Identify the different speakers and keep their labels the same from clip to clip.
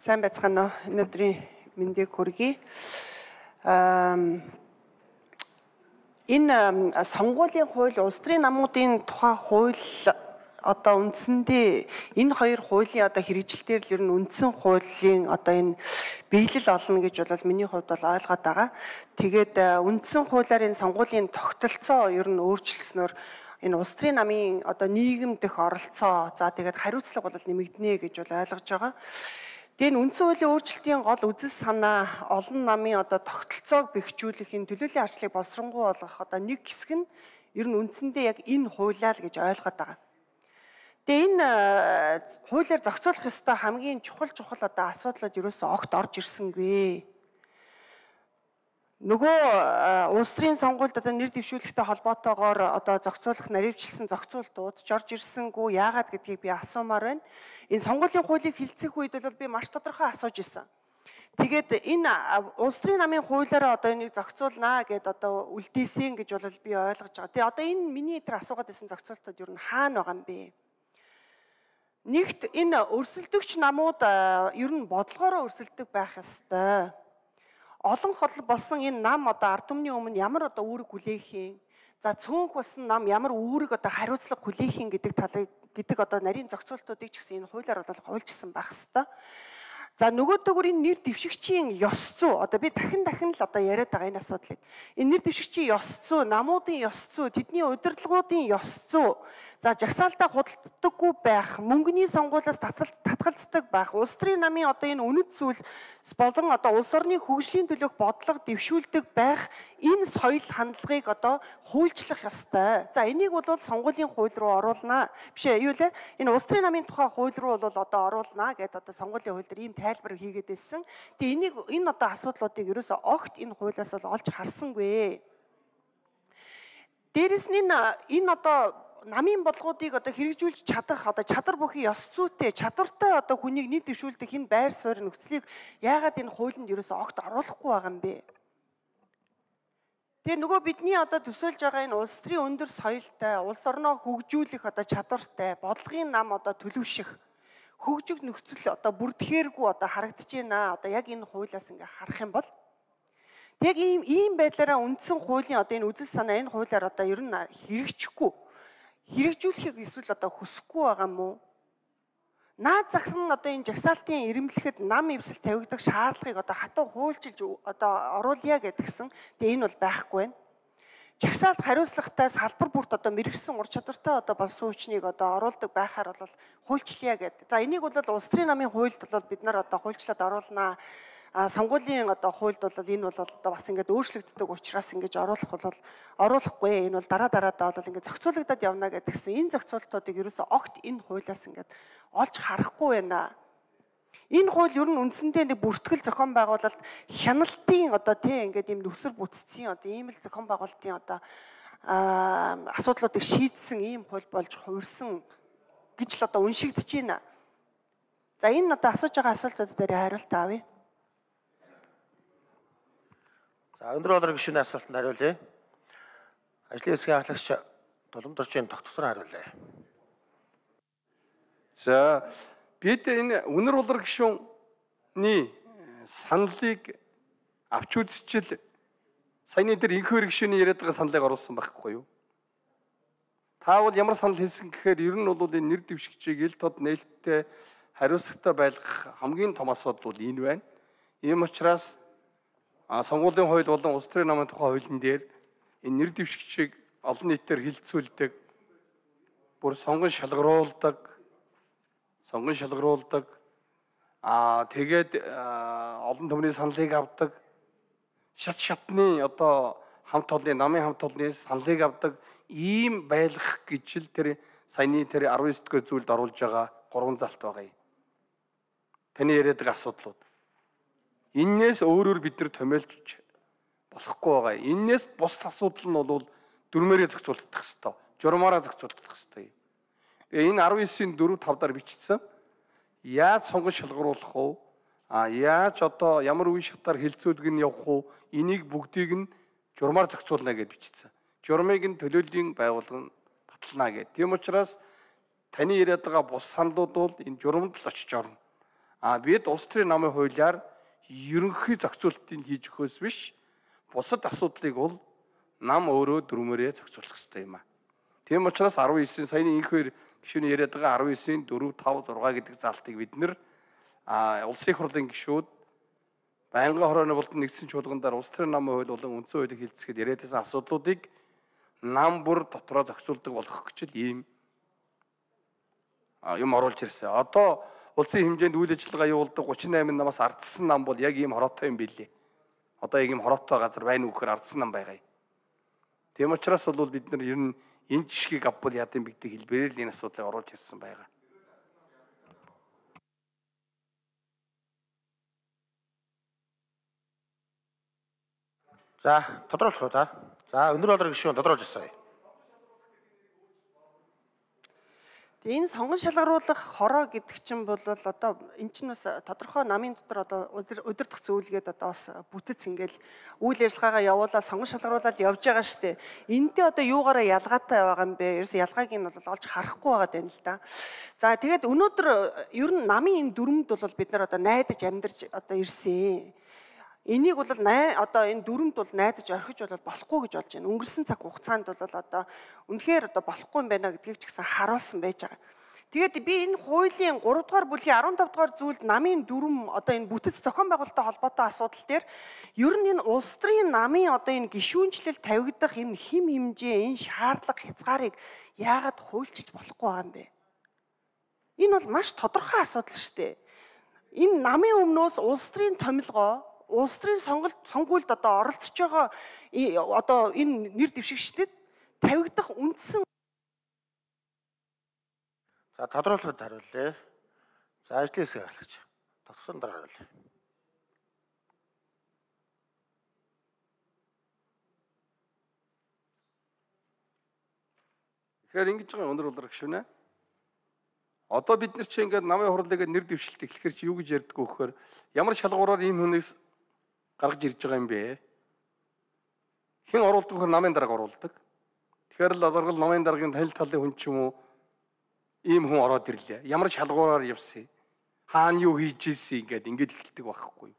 Speaker 1: Сайн байцгаана уу? Энэ өдрийн мэндийг хүргэе. Энэ сонгуулийн хууль, улс төрийн намуудын тухай хууль одоо үндсэндээ энэ хоёр хуулийн одоо хэрэгжилтээр л ер нь үндсэн хуулийн одоо энэ биелэл олно гэж бол миний хувьд бол ойлгоод байгаа. Тэгээд үндсэн хуулиар энэ сонгуулийн тогтолцоо ер нь өөрчлөснөөр энэ улс төрийн намын одоо нийгэм дэх оролцоо за тэгээд хариуцлага бол нэмэгдэнэ гэж бол ойлгож байгаа. Тэгээд үндсэн хуулийн өөрчлөлтийн гол үзэл санаа олон намын одоо тогтолцоог бэхжүүлэх энэ төлөөллийн арчлыг боловсронгуй болгох одоо нэг хэсэг нь ер нь үндсэндээ яг энэ хуулиа л гэж ойлгоод байгаа. Тэгээд энэ хуулиар зохицуулах ёстой хамгийн чухал одоо асуудлууд ерөөсөө огт орж ирсэнгүй. Нөгөө улс төрийн сонгуульд одоо нэр дэвшүүлэхтэй холбоотойгоор одоо зохицуулах наривчлсан зохицуултууд ч орж ирсэнгүй. Яагаад гэдгийг би асуумаар байна. Энэ сонгуулийн хуулийг хэлцэх үед бол би маш тодорхой асууж исэн. Тэгээд энэ улс төрийн намын хуулиараа одоо энийг зохицуулнаа гэд одоо үлдээсэн гэж бол би ойлгож байгаа. Тэгээд одоо энэ миний тэр асуугаад байсан зохицуултууд ер нь хаана байгаа юм бэ? Нэгт энэ өрсөлдөгч намууд ер нь бодлогоороо өрсөлдөг байх ёстой. Олон хол болсон энэ нам одоо ард түмний өмнө ямар одоо үүрэг хүлээх юм. За цөөнх болсон нам ямар үүрэг одоо хариуцлага хүлээх юм гэдэг одоо нарийн зохицуултуудыг ч гэсэн энэ хуулиар бол хуульчсан байх ёстой. За нөгөөдөөр энэ нэр дэвшигчийн ёс зүй одоо би дахин л одоо яриад байгаа энэ асуудлыг. Энэ нэр дэвшигчийн ёс зүй, намуудын ёс зүй, тэдний удирдлагуудын ёс зүй, за жагсаалтаа худалддаггүй байх, мөнгөний сонгуулиас татгалздаг байх, улс төрийн намын одоо энэ үнэт зүйл болон одоо улс орны хөгжлийн төлөөх бодлого дэвшүүлдэг байх энэ соёл хандлагыг одоо хуульчлах ёстой. За энийг бол сонгуулийн хууль руу оруулнаа. Биш ээ, юу лээ? Энэ улс төрийн намын тухай хууль руу бол одоо оруулнаа гэдээ одоо сонгуулийн хууль дээр ийм тайлбар хийгээд байсан. Тэгээ энэ одоо асуудлуудыг ерөөсөө огт энэ хуулиас бол олж харсангүй. Дээрэс нь энэ одоо намын бодлогуудыг одоо хэрэгжүүлж чадах одоо чадвар бүхий ёс зүйтэй чадвартай одоо хүнийг нийт дэвшүүлдэг энэ байр суурь нөхцөлийг яагаад энэ хуулинд ерөөсөө огт оруулахгүй байгаа юм бэ? Тэгээ нөгөө бидний одоо төсөөлж байгаа энэ улс төрийн өндөр соёлтой, улс орноо хөгжүүлэх одоо чадвартай, бодлогын нам одоо төлөвшөх, хөгжих нөхцөл одоо бүрдэхээргүй одоо харагдаж байна. Одоо яг энэ хуулиас ингээ харах юм бол яг ийм байдлаараа үндсэн хуулийн одоо энэ үзэл санаа энэ хуулиар одоо ер нь хэрэгжүүлэхийг эсвэл одоо хүсэхгүй байгаа юм уу? Наад зах нь одоо энэ жагсаалтын ирэмблэхэд нам эвсэл тавигдах шаардлагыг одоо хатуу хуульчилж одоо оруулъя гэдгсэн. Тэгээ энэ бол байхгүй байна. Жагсаалт хариуцлагатай салбар бүрт одоо мэрэгсэн ур чадвартай одоо болсон хүчнийг одоо оруулдаг байхаар бол хуульчлъя гэдэг. За энийг бол улс төрийн намын хуульд бол бид нар одоо хуульчлаад оруулнаа. Сонгуулийн одоо хуульд бол энэ бол одоо бас ингээд өөрчлөгддөг учраас ингэж оруулахгүй. Энэ бол дараадаадаа бол ингээд зохицуулагдаад явна гэдгсэн. Энэ зохицуултуудыг ерөөсөө огт энэ хуулиас ингээд олж харахгүй байна. Энэ хууль ер нь үндсэндээ нэг бүртгэл зохион байгуулалт хяналтын одоо тийм ингээд ийм нүсэр бүтцийн одоо ийм л зохион байгуулалтын одоо асуудлуудыг шийдсэн ийм хууль болж хувирсан гэж л одоо уншигдэж байна. За энэ одоо асууж байгаа асуултууд дээр хариулт авъя.
Speaker 2: За өндөр болор гишүүний асуултанд хариулъя. Ажлын хэсгийн ахлагч Тулгамдорчийн тогтворсон хариулъя.
Speaker 3: За бид энэ өнөр болор гишүүний саналыг авч үзчихэл саяны дээр инхүүр гишүүний яриад байгаа саналыг оруулсан байхгүй юу? Та бол ямар санал хэлсэн гэхээр ер нь бол энэ нэр дэвшигчийг ил тод нээлттэй хариуцлагатай байлгах хамгийн том асуудал бол энэ байна. Ийм учраас сонгуулийн хууль болон улс төрийн намын тухай хуулийн дээр энэ нэр дэвшигчийг олон нийтээр хилцүүлдэг, бүр сонгон шалгаруулдаг, тэгээд олон түмний саналыг авдаг, шатны одоо намын хамт олонны саналыг авдаг ийм байлгах гэж л тэр саяны тэр 19 дэх зүйлд оруулж байгаа 3 залт байгаа юм. Таны яриад байгаа асуудлууд. Иннээс өөрөөр бид нар томьёолж болохгүй байгаа. Иннээс бус асуудал нь бол дөрмээрээ зохицуулагдах ёстой. Журмаараа зохицуулагдах ёстой. Энэ 19-ийн 4-5 дараа бичсэн. Яаж сонгон шалгаруулах вэ? Яаж одоо ямар үе шатаар хилцүүлэг нь явах вэ? Энийг бүгдийг нь журмаар зохицуулна гэж бичсэн. Журмыг нь төлөөллийн байгууллага нь батална гэдэг. Тийм учраас таны яриад байгаа бус саналууд бол энэ журмд л очиж орно. Бид улс төрийн намын хуулиар ерөнхий зохицуултыг хийж өгөхөөс биш, бусад асуудлыг бол нам өөрөө дүрмээрээ зохицуулах хэрэгтэй юм. Тийм учраас 19 саяны инхээр гишүүний яриад байгаа 19-ийн 4, 5, 6 гэдэг заалтыг бид нэр улсын их хурлын гишүүд байнгын хорооны болон нэгдсэн чуулгандаар улс төрийн намын хууль болон үндсэн хуулийг хилцэхэд яриад байсан асуудлуудыг нам бүр дотроо зохицуулдаг болгох гэж ийм юм оруулж ирсэн. Одоо улсын хэмжээнд үйл ажиллагаа явуулдаг 38 намаас ардсан нам бол яг ийм хороотой юм билээ. Одоо яг ийм хороотой газар байна уу гэхээр ардсан нам байгаа юм. Тийм учраас бол бид нар ер нь энэ жишгийг авбал яадын бигдэг хэлбэрээр л энэ асуудлыг оруулж ирсэн байгаа.
Speaker 2: За, тодруулах уу та? За, өнөр болор гишүүн тодруулж ирсэн.
Speaker 1: Энэ сонгон шалгаруулах хороо гэдэг чинь бол одоо эн чинь бас тодорхой намын дотор одоо удирдах зөвлөгөөд одоо бас бүтэц ингээл үйл ажиллагаагаа явуулаад сонгон шалгаруулаад явж байгаа штэ. Энэтэй одоо юугаараа ялгаатай байгаа юм бэ? Ерөөс ялгааг нь бол олж харахгүй байгаа юм л да. За тэгээд өнөөдөр ер нь намын энэ дүрмд бол бид нар одоо найдаж амьдарч одоо ирсэн. Энийг бол одоо энэ дүрмд бол найдаж орхиж болохгүй гэж болж байна. Өнгөрсөн цаг хугацаанд бол одоо үнэхээр одоо болохгүй юм байна гэдгийг ч гэсэн харуулсан байж байгаа. Тэгээд би энэ хуулийн 3 дугаар бүлгийн 15 дугаар зүйлд намын дүрм одоо энэ бүтэц зохион байгуулалттай холбоотой асуудал дээр ер нь энэ улс төрийн намын одоо энэ гишүүнчлэл тавигдах энэ хэм хэмжээ энэ шаардлага хязгаарыг яагаад хуульчилж болохгүй байгаа юм бэ? Энэ бол маш тодорхой асуудал шүү дээ. Энэ намын өмнөөс улс төрийн томилгоо улс төрийн сонгуульд одоо оролцож байгаа одоо энэ нэр дэвшигчдэд тавигдах үндсэн.
Speaker 2: За, тодруулахад хариулъя. За, ажлын хэсэг хариулагч. Тогтсон дараа хариулъя.
Speaker 3: Тэгэхээр ингэж байгаа өнөр болор гишүүнэ. Одоо бид нар чи ингээд намын хурлыг нэр дэвшилт эхлэхэр чи юу гэж ярьдгүү гэхээр ямар шалгуураар ийм хүнээс гаргаж ирж байгаа юм бэ? Хэн оруулдаг вэ? Намын дарга оруулдаг. Тэгэхээр л одооргол намын даргын танил талын хүн ч юм уу ийм хүн ороод ирлээ. Ямар шалгуураар явсан? Хаана юу хийж ийсэн ингээд эхэлдэг байхгүй юу?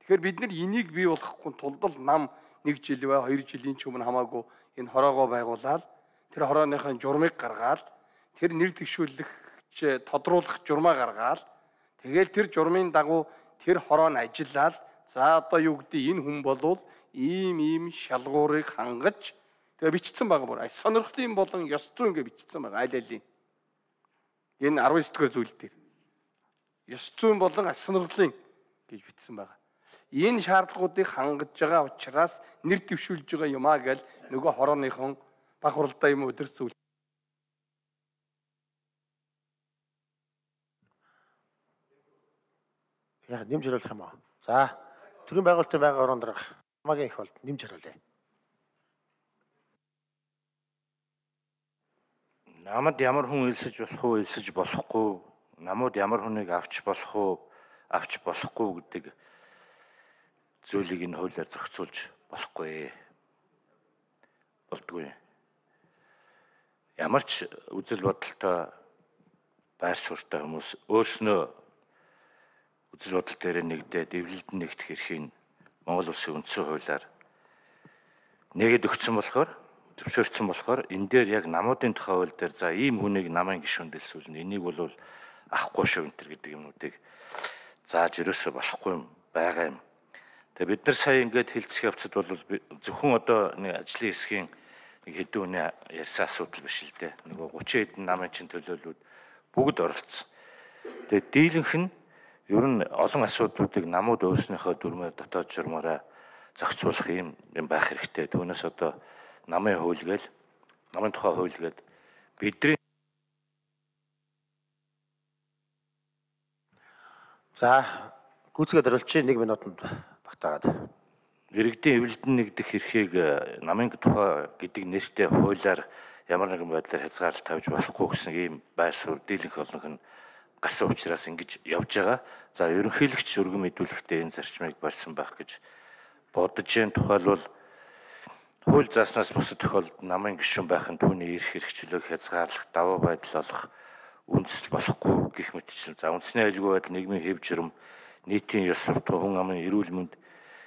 Speaker 3: Тэгэхээр бид нар энийг бий болгохгүй тулд л нам 1 жил ба 2 жилийн ч өмнө хамаагүй энэ хороогоо байгуулаад тэр хорооныхын журмыг гаргаад тэр нэр дэвшүүлэгч тодруулах журмаа гаргаад тэгэл тэр журмын дагуу тэр хороо нь ажиллаад за одоо юу гэдэг энэ хүн болвол ийм шалгуурыг хангаж тэгээ бичсэн байгаа бүр сонирхлын болон ёс зүйн гэж бичсэн байгаа аль алийн энэ 19 дэх зүйл дээр ёс зүйн болон сонирхлын гэж бичсэн байгаа. Энэ шаардлагуудыг хангаж байгаа учраас нэр дэвшүүлж байгаа юмаа гэл нөгөө хорооныхон баг хуралдаа юм өдөрс зүйл.
Speaker 2: Яа, нэмж хариулах юм аа. За, төрийн байгуулалтын байнгын орон дарга хамаагийн их болд нэмж хариулъя.
Speaker 4: Намад ямар хүн элсэж болох уу, элсэж болохгүй, намууд ямар хүнийг авч болох уу, авч болохгүй гэдэг зүйлийг энэ хуулиар зохицуулж болохгүй. Болдгүй. Ямар ч үзэл бодолтой байр суурьтай хүмүүс өөрснөө үзэл бодол дээр нэгдээд эвлэлд нэгдэх эрхийг Монгол Улсын үндсэн хуулиар нэгэд өгсөн болохоор зөвшөөрсөн болохоор энэ дээр яг намуудын тухай хууль дээр за ийм хүнийг намын гишүүнд дэлсүүлнэ. Энийг бол авахгүй шүү энэ гэдэг юмнуудыг зааж ерөөсөө болохгүй юм байгаа юм. Тэгээ бид нар сая ингээд хэлцэх явцад бол зөвхөн одоо нэг ажлын хэсгийн нэг хэдэн хүний ярьсан асуудал биш л дээ. Нөгөө 30 хэдэн намын чин төлөөллүүд бүгд оролцсон. Тэгээ дийлэнх нь ер нь олон асуудлуудыг намууд өөрснийхөө дүрмээр дотоод журмаараа зохицуулах юм байх хэрэгтэй. Түүнээс одоо намын хууль гээл намын тухай хууль гээд бидний
Speaker 2: за гүйцэтгэд хариулчих 1 минутанд багтаагаад.
Speaker 4: иргэдийн эвлэлдэн нэгдэх эрхийг намын тухай гэдэг нэртэй хуулиар ямар нэгэн байдлаар хязгаарлалт тавьж болохгүй гэсэн ийм байр суурь дийлэнх олонх нь гасан учраас ингэж явж байгаа. За ерөнхийлөгч өргөн мэдүүлэхдээ энэ зарчмыг барьсан байх гэж бодож байна. Тухайлбал хууль зааснаас бусад тохиолдолд намын гишүүн байх нь түүний эрх хэрэгчлөөг хязгаарлах, даваа байдал олох, үндэслэл болохгүй гэх мэтчлэн. За үндэсний аюулгүй байдал, нийгмийн хэв журам, нийтийн ёс суртахуун, хүн амын эрүүл мэнд,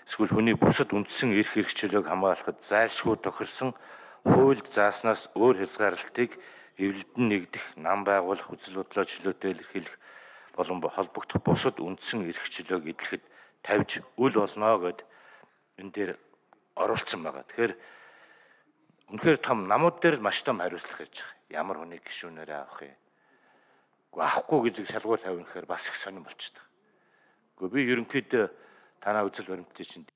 Speaker 4: эсвэл хүний бусад үндсэн эрх хэрэгчлөөг хамгаалахад зайлшгүй тохирсон хуульд зааснаас өөр хязгаарлалтыг эвлэлдэн нэгдэх, нам байгуулах, үзэл бодлоо чөлөөтэй илэрхийлэх болон холбогдох бусад үндсэн эрх чөлөөг эдлэхэд тавьж үл болно гэд энэ дээр оруулсан байгаа. Тэгэхээр үнэхээр том намууд дээр маш том хариуцлага ирж байгаа. Ямар хүнийг гишүүнээрээ авах юм? Авахгүй гэж шалгуур тавих гэхээр бас их сонирн болчихдог. Гэхдээ би ерөнхийдөө танаа үзэл баримтыг чинь